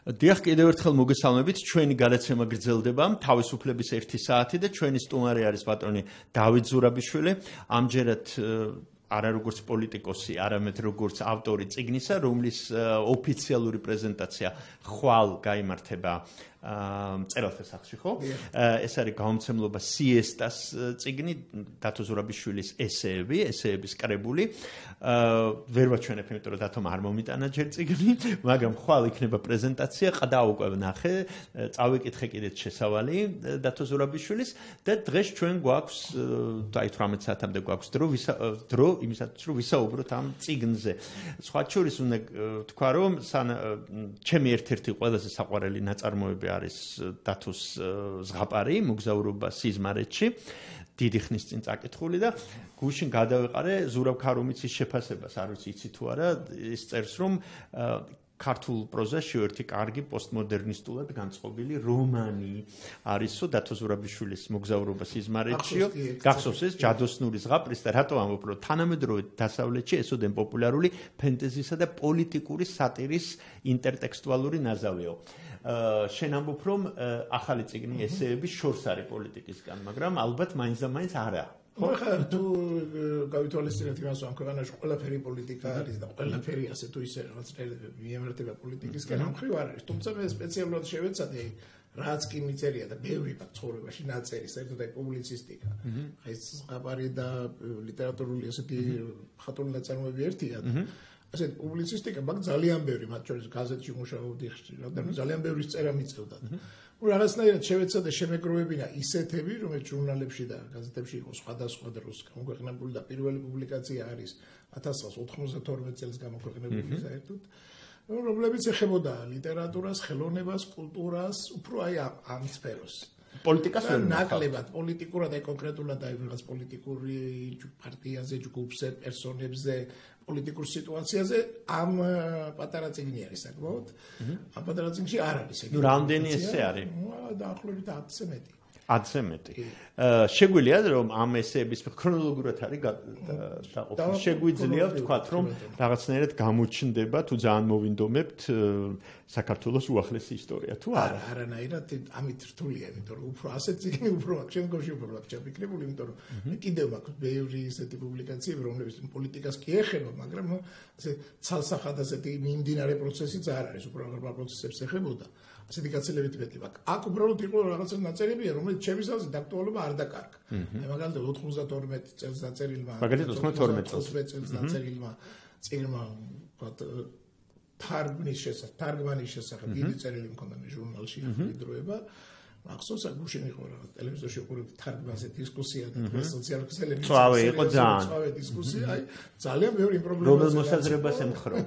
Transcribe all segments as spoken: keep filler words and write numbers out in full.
დიახ, კიდევ ერთხელ მოგესალმებით. ჩვენი გადაცემა გრძელდება. თავისუფლების ერთი საათი და ჩვენი სტუმარი არის პატრონი დავით ზურაბიშვილი. ამჯერად არა როგორც პოლიტიკოსი, არამედ როგორც ავტორი წიგნისა, რომლის ოფიციალური პრეზენტაცია ხვალ გაიმართება მწერალთა სახლში, ხო? ეს არის გამომცემლობა სიესტას წიგნი, დათო ზურაბიშვილის ესეები, ესეების კრებული. ვერ ვაჩვენებ, იმიტომ რომ დათომ არ მომიტანა ჯერ წიგნი, მაგრამ ხვალ იქნება პრეზენტაცია, ყდა უკვე ვნახე, წავიკითხე კიდეც შესავალი დათო ზურაბიშვილის და დღეს ჩვენ გვაქვს აი თვრამეტ საათამდე გვაქვს დრო დრო იმისაც რომ ვისაუბროთ ამ წიგნზე. სხვა შორის უნდა თქვა რომ ჩემი ერთ-ერთი ყველაზე საყვარელი ნაწარმოები არის დათოს ზღაპარი, მოგზაურობა სიზმარეთში, დიდი ხნის წინ წაკითხული და გუშინ გადავეყარე ზურაბ ქარუმიცის შეფასებას, არ ვიცი იცი თუ არა, ის წერს რომ ქართულ პროზაში ერთი კარგი პოსტმოდერნისტულად განწყობილი რომანი არისო დათო ზურაბიშვილის მოგზაურობა სიზმარეთშიო. გახსოვს ეს ჯადოსნური ზღაპრის და რატო ამბობ რომ თანამედროვე დასავლეთში ესოდენ პოპულარული ფენტეზისა და პოლიტიკური სატირის ინტერტექსტუალური ნაზავიო. შენ ამბობ რომ ახალი წიგნი ესეების შორს არის პოლიტიკისგან, მაგრამ ალბათ მაინც და მაინც არა. ხა თუ გავითვალისწინებთ იმას რომ ქვეყანაში ყველაფერი პოლიტიკა არის და ყველაფერი ასე თუ ისე რაღაც წელებები მიემართება პოლიტიკისგან, ამ ხრივ არ არის. თუმცა მე სპეციალურად შევეცადე რაც კი მიწერია და ბევრი მაგ ცხოვრებაში ნაწერი, საერთოდ აი პუბლიცისტიკა. ხა ეს ზღაპარი და ლიტერატურული ასეთი ხატული ნაწარმოები ერთია. ასეთი პუბლიცისტიკა მაგ ძალიან ბევრი, მათ შორის გაზეთში მუშაობდი ხშირად და ძალიან ბევრი წერა მიწევდა. რაღაცნაირად შევეცადე შემეგროვებინა ისეთები, რომელიც ჟურნალებში და გაზეთებში იყო სხვადასხვა დროს გამოქვეყნებული და პირველი პუბლიკაცია არის ათას ცხრაასა ოცდაათორმეტ წელს გამოქვეყნებული საერთოდ, რომლებიც ეხებოდა ლიტერატურას, ხელოვნებას, კულტურას, უფრო აი ამ სფეროს. პოლიტიკას ვერ ნაკლებად პოლიტიკურად აი კონკრეტულად აი რაღაც პოლიტიკური პარტიაზე, ჯგუფზე, პერსონებზე, პოლიტიკურ სიტუაციაზე ამ პატარა წიგნი არის საკმაოდ. ამ პატარა წიგნში არ არის ეგ. ნუ რამდენი ესე არის? დაახლოებით ათზე მეტი. ათზე მეტი. შეგვიძლია რომ ამ ესეების ქრონოლოგიურად არის დაყოფილი. შეგვიძლია ვთქვათ რომ რაღაცნაირად გამოჩნდება თუ ძალიან მოვინდომებთ საქართველოს უახლესი ისტორია თუ არა? არანაირად ამით რთულია, იმიტომ რომ უფრო ასეთ წიგნი უფრო აქ შემდგომში უფრო აქ ჩაფიქრებული, იმიტომ რომ მე კიდევ მაქვს ბევრი ესეთი პუბლიკაციები, რომლებიც პოლიტიკას კი ეხება, მაგრამ ასე ცალსახად ასეთი მიმდინარე პროცესიც არ არის, უფრო აღარ პროცესებს ეხებოდა. ასეთი გაცილებით მეტი მაქვს. აქ უბრალოდ იყო რაღაცა ნაწერებია, რომელიც ჩემი საზრით დაქტუალობა არ დაკარგა. მე მაგალითად ოცდათორმეტ წელს დაწერილმა, მაგალითად ოცდათორმეტ წელს დაწერილმა წიგნმა, ვთქვათ, თარგმნის შესახებ, თარგმანის შესახებ დიდი წერილი მქონდა მე ჟურნალში იდროება. მახსოვს აქ გუშინ იყო რაღაც ტელევიზორში უყურებდი თარგმანზე დისკუსია და სოციალურ ქსელებში. წვავე იყო ძალიან. წვავე დისკუსია, აი ძალიან ბევრი პრობლემა. რომელ მოსაზრებას ემხრობ?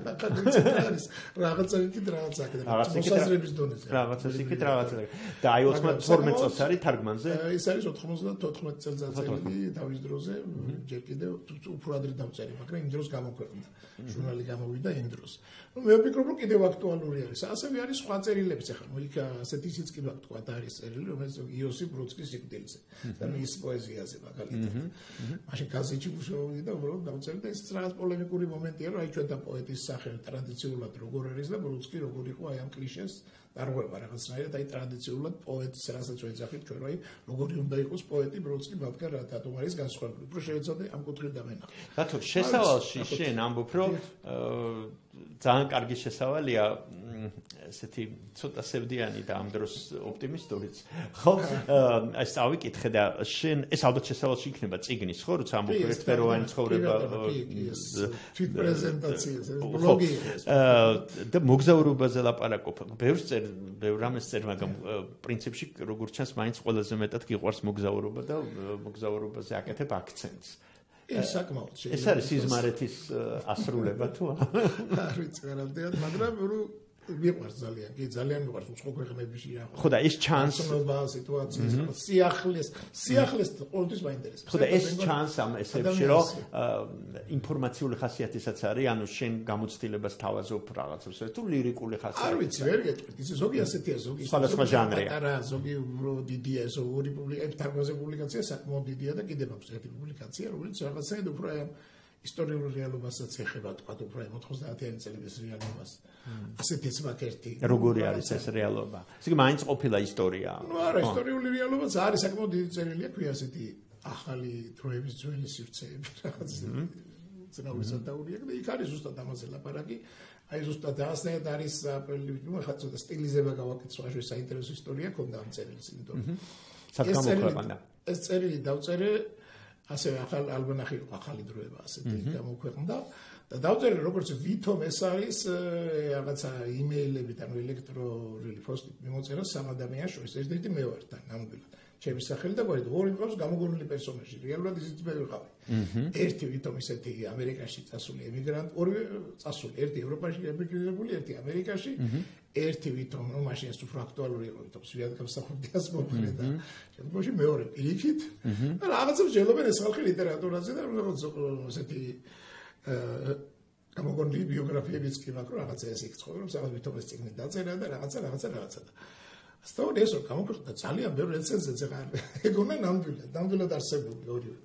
რაღაცა იქით რაღაცა აქ მოსაზრების დონეზე. რაღაცა იქით რაღაცა. და აი ოცდათორმეტ წელს არის თარგმანზე? ეს არის ოცდათოთხმეტ წელს დაწერილი დავის დროზე, ჯერ კიდევ უფრო ადრე დავწერე, მაგრამ იმ დროს გამოქვეყნდა. ჟურნალი გამოვიდა იმ დროს. ნუ მე ვფიქრობ რომ კიდევ აქტუალური არის. ასევე არის სხვა წერილებიც ახლა, ნუ იქ ასეთი ისიც კი ვთქვა არის წერილი, რომელიც იოსიფ ბროდსკის სიკვდილზე და მის პოეზიაზე მაგალითად. მაშინ გაზეთში მუშაობდი და უბრალოდ დავწერე და ეს რაღაც პოლემიკური მომენტია, რომ აი ჩვენთან პოეტის სახე ტრადიციულად როგორ არის და ბროდსკი როგორ იყო აი ამ კლიშეს დარღვევა რაღაცნაირად აი ტრადიციულად პოეტს რასაც ვეძახით ჩვენ, აი როგორი უნდა იყოს პოეტი ბროდსკი, მაგრამ რა თათომ არის განსხვავებული. უფრო შევეცადე ამ კუთხით დავენახო. რატო შესავალში შენ ამბობ რომ ძალიან კარგი შესავალია ესეთი ცოტა სევდიანი და ამ დროს ოპტიმისტურიც. ხო, ეს წავიკითხე და შენ ეს ალბათ შესავალში იქნება წიგნის, ხო, როცა ამბობ ერთფეროვანი ცხოვრება თვით პრეზენტაციაზე, ბლოგი ეს. და მოგზაურობაზე ლაპარაკობ. ბევრს წერ, ბევრ რამეს წერ, მაგრამ პრინციპში როგორც ჩანს, მაინც ყველაზე მეტად გიყვარს მოგზაურობა და მოგზაურობაზე აკეთებ აქცენტს. ეს საკმაოდ შეიძლება. ეს არის სიზმარეთის ასრულება თუ არა? არ ვიცი, არამდენად, მაგრამ მიყვარს ძალიან, კი ძალიან მიყვარს უცხო ქვეყნებში რა. ხო და ეს ჩანს ცნობა სიტუაციის, სიახლეს, სიახლეს ყოველთვის მაინტერესებს. ხო და ეს ჩანს ამ ესებში, რომ ინფორმაციული ხასიათისაც არის, ანუ შენ გამოცდილებას თავაზობ რაღაცებს, თუ ლირიკული ხასიათი. არ ვიცი, ვერ გეტყვით, ისე ზოგი ასეთია, ზოგი სხვადასხვა ჟანრია. პატარა, ზოგი უფრო დიდია, ეს ორი პუბლიკაცია, თარგმანზე პუბლიკაცია საკმაოდ დიდია და კიდევ აქვს ერთი პუბლიკაცია, რომელიც რაღაცაა უფრო ისტორიულ რეალობასაც ეხება თქვა უფრო ოთხმოცდაათიანი წლების რეალობას. ასეთიც ვაკერთი. როგორი არის ეს რეალობა? ისე კი მაინც ყოფილა ისტორია. ნუ არა, ისტორიული რეალობაც არის საკმაოდ დიდი წერილია, ქვია ასეთი ახალი დროების ძველი სივრცეები რაღაც ზნაურისა დაურია და იქ არის ზუსტად ამაზე ლაპარაკი. აი ზუსტად ასეთ არის ნუ ხა ცოტა სტილიზება გავაკეთე, სხვა საინტერესო ისტორია ქონდა ამ წერილს, იმიტომ სათქო მოყვება. ეს წერილი დავწერე ასევე ახალ ალბანახი ახალი დროება ასეთი გამოქვეყნდა და დავწერე როგორც ვითომ ეს არის რაღაცა იმეილებით ანუ ელექტრონული პოსტით მიმოწერა სამ ადამიანს შორის ერთ-ერთი მე ვარ თან ნამდვილად ჩემი სახელი და გვერდით ორი მყავს გამოგონილი პერსონაჟი რეალურად ისიც მე ვიყავი ერთი ვითომ ისეთი ამერიკაში წასული ემიგრანტი ორი წასული ერთი ევროპაში ემიგრირებული ერთი ამერიკაში ერთი ვითომ რომ მაშინ ეს უფრო აქტუალური იყო ვითომ სვიად გამსახურდია მოყრე და შემდგომში მეორე პირიქით და რაღაცა ვჯელობენ ეს ხალხი ლიტერატურაზე და რაღაც ესეთი გამოგონილი ბიოგრაფიებიც კი მაქვს რაღაცა ეს იქ ცხოვრობს რაღაც ვითომ ეს წიგნი დაწერა და რაღაცა რაღაცა რაღაცა და ასთავად ეს რომ გამოქვეყნდა ძალიან ბევრი რეცენზიაც ახლა ეგონა ნამდვილად ნამდვილად არსებული ორივე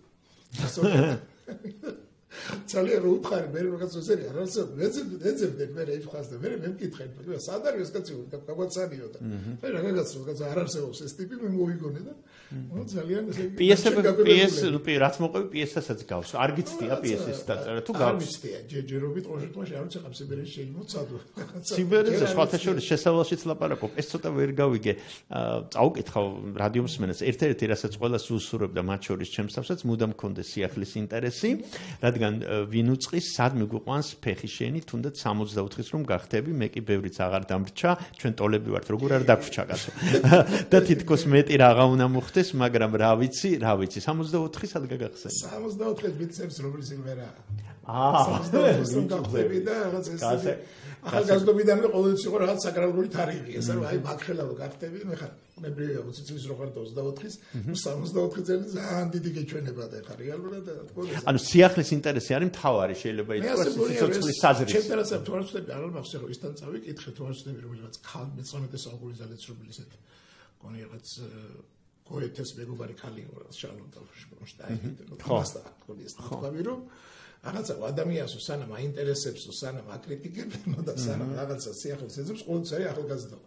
ძალიან რო უთხარი მე რაღაც ზერი არ არსებობს მეცემ ეძებდე მე იფხას და მე მემკითხე და სად არის ეს კაცი გაგვაცანიო და მე რაღაც რაღაც არ არსებობს ეს ტიპი მე მოვიგონე და ნუ ძალიან ესე პიესები პიეს რაც მოყვები პიესასაც გავს არ გიცდია პიესის დაწერა თუ გავს არ ვიცდია ჯერჯერობით ყოველთვის არ ვიცი ხამ სიბერეში შემოცადო სიბერეზე სხვათა შორის შესავალშიც ლაპარაკობ ეს ცოტა ვერ გავიგე წაუკითხავ რადიო მსმენელს ერთ-ერთი რასაც ყველას უსურვებდა მათ შორის ჩემსავსაც მუდამ მქონდეს სიახლის ინტერესი რადგან ვინ უწყის სად მიგვიყვანს ფეხი შენი თუნდაც სამოცდაოთხის რომ გახდები მე კი ბევრიც აღარ დამრჩა ჩვენ ტოლები ვართ როგორ არ დაგვრჩა კაცო და თითქოს მეტი რაღა უნდა მოხდეს მაგრამ რა ვიცი რა ვიცი სამოცდაოთხი სად გაგახსენე სამოცდაოთხი ვიცებს რომელი სიმღერა აა სამოცდაოთხი რომ გახდები და რაღაც ეს ახალგაზრდობიდანვე ყოველთვის იყო რაღაც საკრალური თარიღი ეს რომ აი მაგხელავ გახდები მე ხარ ნებრივია ოცი წლის რო ხარ ოცდაოთხის სამოცდაოთხი წელი ძალიან დიდი გეჩვენება და ხარ რეალურად და თქო ანუ სიახლის ინტერესი არის მთავარი შეიძლება ითქვას სიცოცხლის საზრისი ჩემ ტერასებს თუ არ ვწდები არ მახსოვს რომ ისთან წავიკითხე თუ არ ვწდები რომელიღაც ხალ მეცხრამეტე საუკუნის ძალეცრობილი ესეთი კონი რაღაც გოეთეს მეგობარი ქალი იყო რა შალონდა შპონშტაინი ხო თქო ეს თქვი რომ რაღაცა ადამიანს სანამ აინტერესებს სანამ აკრიტიკებენ და სანამ რაღაცა სიახლეს ეძებს ყოველთვის არის ახალგაზრდა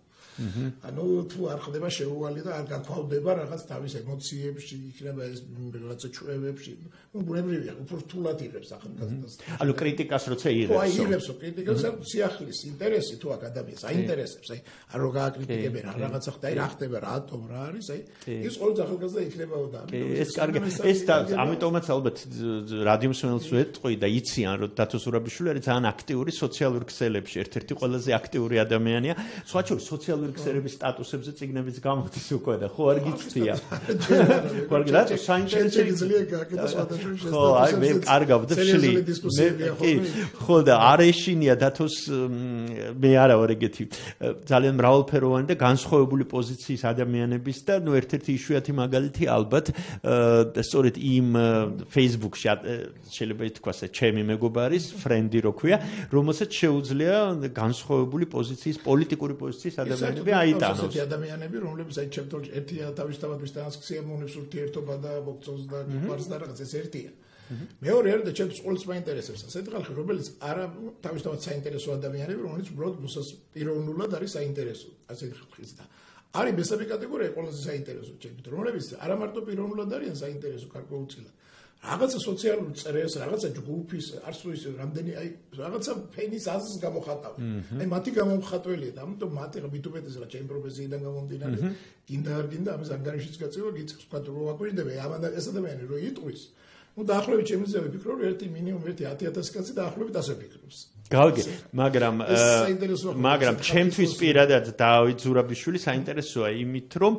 ანუ თუ არ ხდება შეუვალი და არ გაქვავდება რაღაც თავის ემოციებში იქნება ეს რაღაცა ჩვევებში ნუ ბუნებრივია უფრო რთულად იღებს ახალგაზრდას ანუ კრიტიკას როცა იღებს აი იღებს კრიტიკას სიახლის ინტერესი თუ აქ ადამიანს აინტერესებს აი არ რო გააკრიტიკებენ რა რაღაცა ხდა აი რა ხდება რატომ რა არის აი ის ყოველ ახალგაზრდა იქნებაო და ეს კარგი ეს და ამიტომაც ალბათ რადიო მსმენელს ვეტყვი და იციან რომ დათო ზურაბიშვილი არის ძალიან აქტიური სოციალურ ქსელებში ერთ-ერთი ყველაზე აქტიური ადამიანია სხვა შორის სოციალურ ქსელების სტატუსებზე წიგნებიც გამოდის უკვე და ხო არ გიცდია ხო არ გიცდია საინტერესო ხო აი მე კარგავ და შლი მე კი ხო და არ ეშინია დათოს მე არა ვარ ეგეთი ძალიან მრავალფეროვანი და განსხვავებული პოზიციის ადამიანების და ნუ ერთ-ერთი იშვიათი მაგალითი ალბათ სწორედ იმ Facebook-ში შეიძლება ითქვას ჩემი მეგობარის ფრენდი რო ქვია რომელსაც შეუძლია განსხვავებული პოზიციის პოლიტიკური პოზიციის ადამიანები აიტანოს ესეთი ადამიანები რომლებიც აი ჩემთვის ერთია თავისთავად ვის ტრანსქციამონებს ურთიერთობა და მოგწონს და გვარს და რაღაც ეს ერთია მეორე არის და ჩემთვის ყოველთვის მაინტერესებს ასეთი ხალხი რომელიც არა თავისთავად საინტერესო ადამიანები რომელიც უბრალოდ მოსას პიროვნულად არის საინტერესო ასეთი ხალხის და არის მესამე კატეგორია ყველაზე საინტერესო ჩემთვის რომლებიც არა მარტო პიროვნულად არიან საინტერესო გარკვეულწილად რაღაცა სოციალურ წრეს, რაღაცა ჯგუფის, არც თუ ის რამდენი აი რაღაცა ფენის აზრს გამოხატავენ. აი მათი გამომხატველია და ამიტომ მათი ბიტუბეთის რა ჩემ პროფესიიდან გამომდინარე, გინდა არ გინდა ამის ანგარიშიც გაწევა, გიწევს თქვა რომ აკვირდება ამან ეს ადამიანი რო იტყვის. ნუ დაახლოებით ჩემზე ვიფიქრო რომ ერთი მინიმუმ ერთი ათი ათასი კაცი დაახლოებით ასე ფიქრობს. გავიგე, მაგრამ მაგრამ ჩემთვის პირადად დავით ზურაბიშვილი საინტერესოა იმით რომ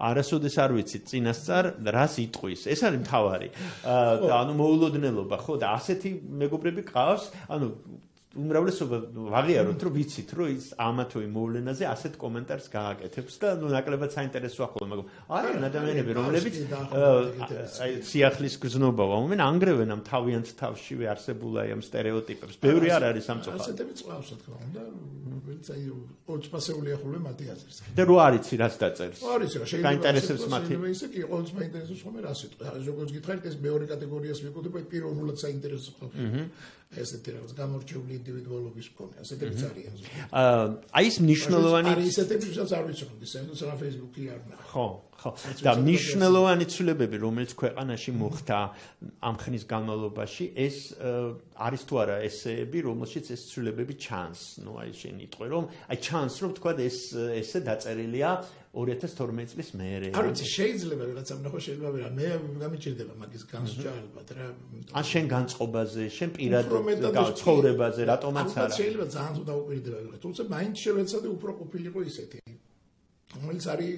არასოდეს არ ვიცი წინასწარ რას იტყვის. ეს არის მთავარი. ანუ მოულოდნელობა, ხო და ასეთი მეგობრები ყავს, ანუ უმრავლესობა ვაღიაროთ, რომ ვიცით, რომ ის ამა თუ იმ მოვლენაზე ასეთ კომენტარს გააკეთებს და ნუ ნაკლებად საინტერესოა ხოლმე, მაგრამ არიან ადამიანები, რომლებიც აი სიახლის გზნობაა, უმენ ანგრევენ ამ თავიანთ თავშივე არსებულ აი ამ სტერეოტიპებს. ბევრი არ არის სამწუხაროდ. ასეთები წავს, რა თქმა უნდა, ვინც აი ოთხფასეულია ხოლმე მათი აზრს. და რო არიცი რას დაწერს. არის რა, შეიძლება გაინტერესებს მათი. ისე კი ყოველთვის მაინტერესებს ხოლმე რა სიტყვა. როგორც გითხარით, ეს მეორე კატეგორიას ვიკუთებ, აი პირველად საინტერესო ხოლმე. ესეთი რაღაც გამორჩეული ინდივიდუალობის მქონე, ასეთებიც არიან. აი ეს მნიშვნელოვანი არის ესეთები, ვისაც არ ვიცოდი, საერთოდ რა Facebook-ი არ ნახე. ხო, ხო. და მნიშვნელოვანი ცვლილებები, რომელიც ქვეყანაში მოხდა ამ ხნის განმავლობაში, ეს არის თუ არა ესეები, რომელშიც ეს ცვლილებები ჩანს. ნუ აი შენ იტყვი, რომ აი ჩანს, რომ თქვა ეს ესე დაწერილია ორი ათას თორმეტი წლის მერე. არ ვიცი, შეიძლება რაღაცა ნახო შეიძლება, მე გამიჭირდება მაგის განსჯა ალბათ რა. ან შენ განწყობაზე, შენ პირად ცხოვრებაზე, რატომაც არა. შეიძლება ძალიან თუ დაუპირდება, თუმცა მაინც შევეცადე უფრო ყოფილიყო ისეთი. რომელიც არის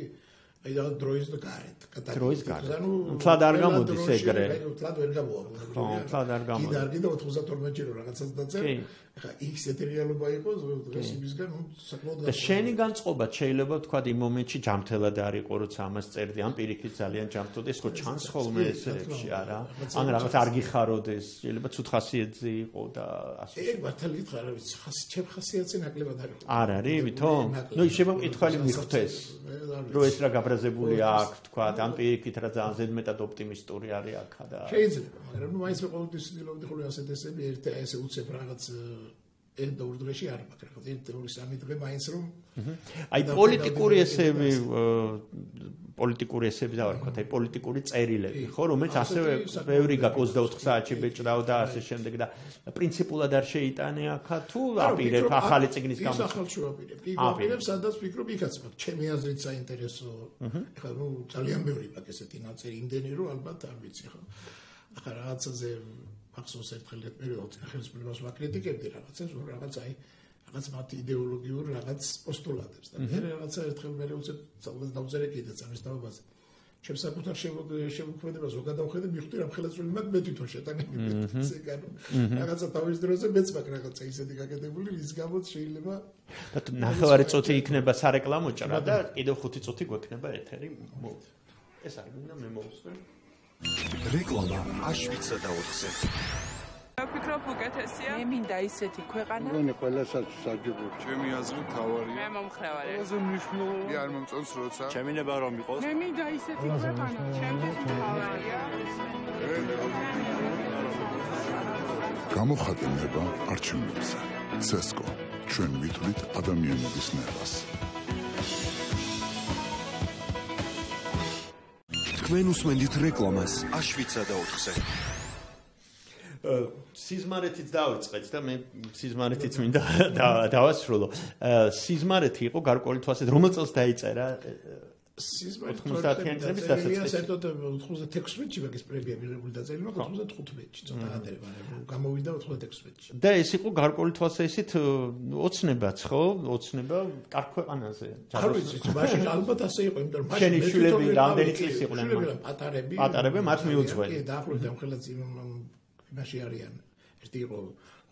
აი და დროის და გარეთ. დროის გარეთ. თლად არ გამოდის ეგრე. თლად ვერ გამოვა. ხო, თლად არ გამოდის. კიდე არ კიდე ოთხმოცდათორმეტი ჯერო რაღაცას დაწერ. ხა იქ სეტერიალობა იყო დღეს იმისგან, ნუ საკმაოდ და შენი განწყობა შეიძლება თქვა იმ მომენტში ჯამთელად არ იყო, როცა ამას წერდი, ან პირიქით ძალიან ჯამთოდა, ეს ხო ჩანს ხოლმე ესებში არა? ან რაღაც არ გიხაროდეს, შეიძლება ცუდ ხასიათზე იყო და ასე. ეგ მართალი გითხრა, რა ვიცი, ხასი ჩემ ხასიათზე ნაკლებად არ იყო. არ არის, ვითომ? ნუ შეიძლება მკითხველი მიხვდეს, რომ ეს რა გაბრაზებული აქვს, თქვა, ან პირიქით რა ძალიან ზედმეტად ოპტიმისტური არის აქა და შეიძლება, მაგრამ ნუ მაინც მე ყოველთვის ვცდილობდი ხოლმე ასეთ ესები ერთ ესე უცებ რაღაც ერთ და ორ დღეში არ მაქვს რა, ერთ ორი სამი დღე მაინც რომ აი პოლიტიკური ესები პოლიტიკური ესები და ვარ ვთქვათ, აი პოლიტიკური წერილები, ხო, რომელიც ასევე ბევრი გაქვს ოცდაოთხ საათში ბეჭდავ და ასე შემდეგ და პრინციპულად არ შეიტანე აქა თუ აპირებ ახალი წიგნის გამო. ის ახალში ვაპირებ. იქ ვაპირებ, სადაც ვფიქრობ, იქაც მაქვს ჩემი აზრით საინტერესო. ეხლა ნუ ძალიან ბევრი მაქვს ესეთი ნაწერი, იმდენი რომ ალბათ არ ვიცი ხო. ახლა რაღაცაზე ახსოვს ერთხელ პერიოდში ხელისუფლებას ვაკრიტიკებდი რაღაცას, რაღაც აი რაღაც მათი იდეოლოგიურ რაღაც პოსტულატებს და მე რაღაცა ერთხელ მე უცებ ძალას დავწერე კიდეც ამის თაობაზე. ჩემს საკუთარ შემოქმედებას რო გადავხედე, მივხვდი რომ ხელისუფლება მათ მე თვითონ შეტანები ესე განო. რაღაცა თავის დროზე მეც მაქვს რაღაცა ისეთი გაკეთებული, ვის გამოც შეიძლება და ნახევარი წუთი იქნება სარეკლამო ჭრა და კიდევ ხუთი წუთი გვექნება ეთერი. ეს არის მინდა მე მოვსვე. რეკლამა აშვიცა და ოთხზე. ვფიქრობ უკეთესია. მე მინდა ისეთი ქვეყანა. მგონი ყველასაც საჯობო. ჩემი აზრით თავარია. მე მომხრევარი. ყველაზე მნიშვნელოვანი არ მომწონს როცა. ჩემი ნება რომ იყოს. მე მინდა ისეთი ქვეყანა. ჩემთვის თავარია. გამოხატე ნება არჩევნებზე. ცესკო, ჩვენ ვითვლით ადამიანების ნებას. თქვენ უსმენთ რეკლამას აშვიცა და ოთხზე. სიზმარეთიც დავიწყეთ და მე სიზმარეთიც მინდა დავასრულო. სიზმარეთი იყო გარკვეული თვალსაზრისით, რომელ წელს დაიწერა? ოთხმოცდაათიანი წლების დასაწყისში. საერთოდ ოთხმოცდათექვსმეტში მაგის პრემია მიღებული დაწერილი, მაგრამ ოთხმოცდათოთხმეტში ცოტა ადრე, მაგრამ გამოვიდა ოთხმოცდათექვსმეტში. და ეს იყო გარკვეული თვალსაზრისით ოცნებაც, ხო? ოცნება კარგ ქვეყანაზე. არ ვიცი, მაშინ ალბათ ასე იყო, იმიტომ რომ მაშინ შვილები რამდენი წლის იყვნენ? პატარები. პატარები მათ მიუძღველი. კი, დაახლოებით ამხელაც იმაში არიან. ერთი იყო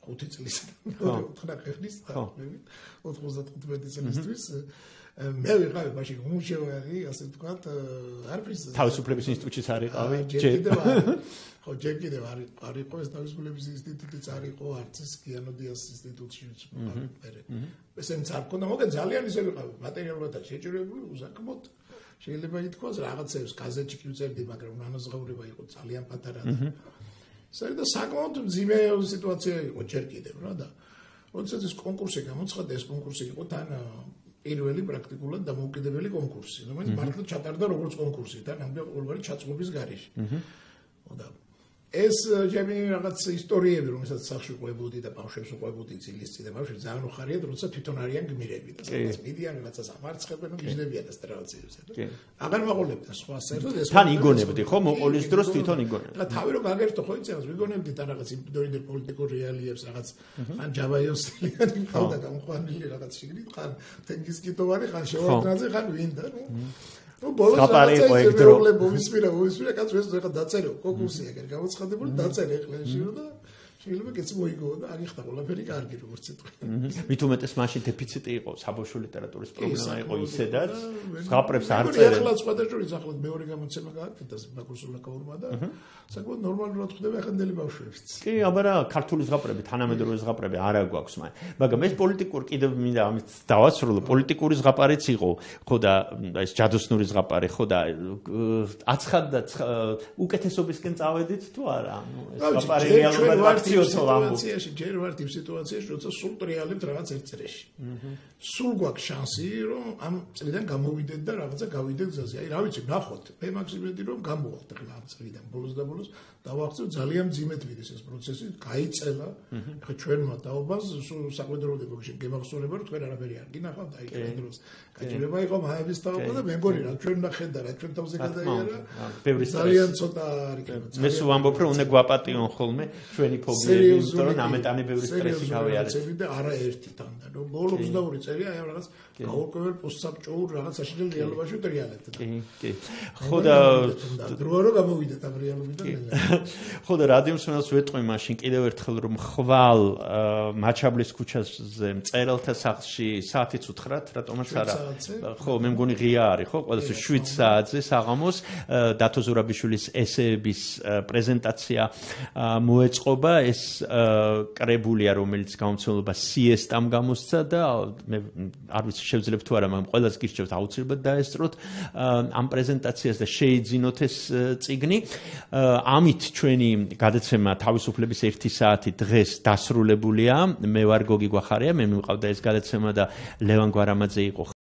ხუთი წლის, ოთხნახევარი ხნის, ოთხმოცდათხუთმეტი წლისთვის. მე ვიყავი მაშინ უმუშევარი, ასე ვთქვათ, არ ვიცი. თავისუფლების ინსტიტუტშიც არ იყავი? ჯერ ხო, ჯერ კიდევ არ არ იყო ეს თავისუფლების ინსტიტუტიც არ იყო, არც ეს კიანოდიას ინსტიტუტშიც მერე. ესენც არ ქონდა, მაგრამ ძალიან ისე ვიყავი, მატერიალურად შეჭრებული, უსაქმოდ. შეიძლება ითქვას რაღაცებს გაზეთში კი ვწერდი, მაგრამ ანაზღაურება იყო ძალიან პატარა. საერთოდ საკმაოდ მძიმე სიტუაცია იყო ჯერ კიდევ რა და როდესაც ეს კონკურსი გამოცხადდა, ეს კონკურსი იყო თან პირველი პრაქტიკულად დამოუკიდებელი კონკურსი, რომელიც მართლა ჩატარდა როგორც კონკურსი, თან ამბია ყოველგვარი ჩაწყობის გარეშე. და ეს ჩემი რაღაც ისტორიები, რომელსაც სახში ყვებოდი და ბავშვებს ყვებოდი ძილის წინ და ბავშვები ძალიან უხარიათ, როცა თვითონ არიან გმირები და სადაც მიდიან, რაღაცას ამარცხებენ, გიჟდებიან ასტრალაციებს. აღარ მაყოლებდა სხვა საერთოდ ეს თან იგონებდი, ხო, მოყოლის დროს თვითონ იგონებდი. და თავი რომ გაგერთო, ხო იცი, ვიგონებდი თან რაღაც იმდროინდელ პოლიტიკურ რეალიებს, რაღაც ან ჯავაიოსლიანი ყავდა გამყვანილი რაღაც შიგნით, ხან თენგიზკიტოვანი, ხან შევარდნაძე, ხან ვინდა, ნუ ну ბოლოს რაღაცა პრობლემა მომისმირა, მომისმირა, კაც ეს ახლა დაწერო, კონკურსი ეგერ გამოცხადებული, დაწერე ეხლა შერო და შეიძლება კეცი მოიგო და აღიხდა ყველაფერი კარგი როგორც ეთქვი. მით უმეტეს მაშინ დეფიციტი იყო საბავშვო ლიტერატურის პრობლემა იყო ისედაც ზღაპრებს არ წერენ. წერენ. ახლა სხვადასხვა ახლა მეორე გამოცემა გააკეთა ბაქოს სულაკაურმა და საკმაოდ ნორმალურად ხდება ახანდელი ბავშვებიც. კი, აბარა ქართული ზღაპრები, თანამედროვე ზღაპრები არა გვაქვს მაგრამ. მაგრამ ეს პოლიტიკურ კიდევ მინდა ამით დავასრულო, პოლიტიკური ზღაპარიც იყო, ხო და ეს ჯადოსნური ზღაპარი, ხო და აცხად და უკეთესობისკენ წავედით თუ არა? ანუ ეს ზღაპარი რეალურად აქციოსო ამბობ. ჯერ ვართ იმ სიტუაციაში, როცა სულ ტრიალებთ რაღაც ერთ წრეში. სულ გვაქვს შანსი, რომ ამ წრიდან გამოვიდეთ და რაღაცა გავიდეთ გზაზე. აი, რა ვიცი, ნახოთ. მე მაქსიმედი რომ გამოვახთ ახლა ამ წრიდან ბოლოს და ბოლოს დავახცევ ძალიან მძიმედ მიდის ეს პროცესი, გაიწელა. ახლა ჩვენმა დაობას საკვედროდებო გემახსოვნება, რომ თქვენ არაფერი არ გინახავთ, აი ჩვენ დროს. გაჭირება იყო მაების დაობა და მე მგონი რა ჩვენ ნახეთ და რა ჩვენ თავზე გადაიარა. ძალიან ცოტა არ იქნება. მე სულ ვამბობ, რომ უნდა გვაპატიონ ხოლმე ჩვენი ფობიები, იმიტომ რომ ამეტანი ბევრი სტრესი გავიარეთ. და არა ერთი თანდან, რომ ბოლო ოცდაორი წელი აი ამ რაღაც გაურკვეველ პოსტსაბჭოურ რაღაცაში და რეალობაში ტრიალებთ. კი, კი. ხო და დროა რომ გამოვიდეთ ამ რეალობიდან. ხო და რადიო მსმენელს ვეტყვი მაშინ კიდევ ერთხელ რომ ხვალ მაჩაბლის ქუჩაზე მწერელთა სახლში საათიც უთხრათ, რატომაც არა. ხო, მე მგონი ღია არის, ხო, ყველასთვის შვიდ საათზე საღამოს დათო ზურაბიშვილის ესეების პრეზენტაცია მოეწყობა, ეს კრებულია, რომელიც გამომცემლობა სიესტამ გამოსცა და მე არ ვიცი შევძლებთ თუ არა, მაგრამ ყველას გირჩევთ აუცილებლად დაესწროთ ამ პრეზენტაციას და შეიძინოთ ეს წიგნი. ამით ჩვენი გადაცემა თავისუფლების ერთი საათი დღეს დასრულებულია. მე ვარ გოგი გვახარია, მე მივყავდა ეს გადაცემა და ლევან გვარამაძე იყო